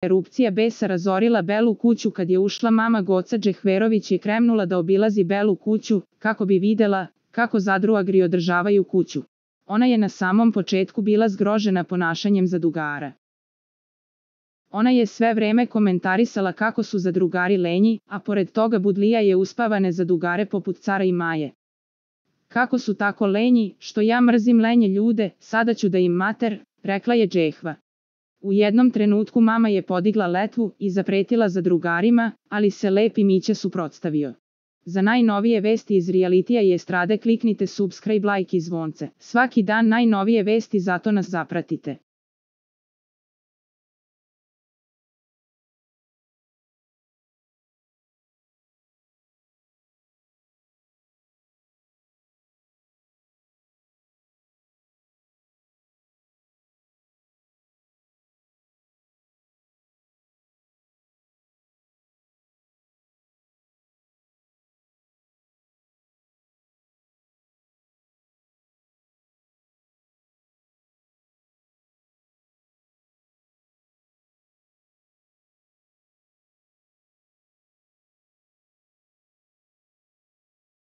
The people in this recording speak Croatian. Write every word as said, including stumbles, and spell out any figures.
Erupcija besa razorila Belu kuću kad je ušla mama Goca Džehverović i krenula da obilazi Belu kuću, kako bi videla kako zadruagri održavaju kuću. Ona je na samom početku bila zgrožena ponašanjem zadrugara. Ona je sve vreme komentarisala kako su zadrugari lenji, a pored toga Budlija je uspavane zadrugare poput Cara i Maje. Kako su tako lenji, što ja mrzim lenje ljude, sada ću da im mater, rekla je Džehva. U jednom trenutku mama je podigla letvu i zapretila zadrugarima, ali se Lepi Mića suprotstavio. Za najnovije vesti iz realitija i estrade kliknite subscribe, like i zvonce. Svaki dan najnovije vesti, zato nas zapratite.